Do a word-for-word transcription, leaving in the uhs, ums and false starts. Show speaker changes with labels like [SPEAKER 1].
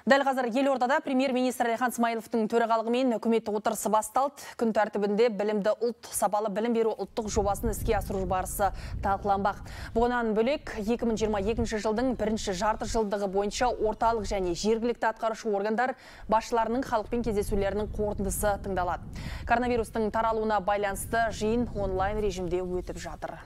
[SPEAKER 1] Дәл қазір елордада премьер-министр Әлихан Смайыловтың төрағалығымен үкімет отырысы басталды. Күн тәртібінде білімді ұлт, сапалы білім беру ұлттық жобасын іске асыру барысы талқыланбақ. Бұғынан бөлек екі мың жиырма екінші жылдың бірінші жарты жылдығы бойынша орталық және жергілікті атқарушы органдар басшыларының халықпен кездесулерінің қорытындысы тыңдалады. Коронавирустың таралуына байланысты жиын онлайн режимде өтіп жатыр.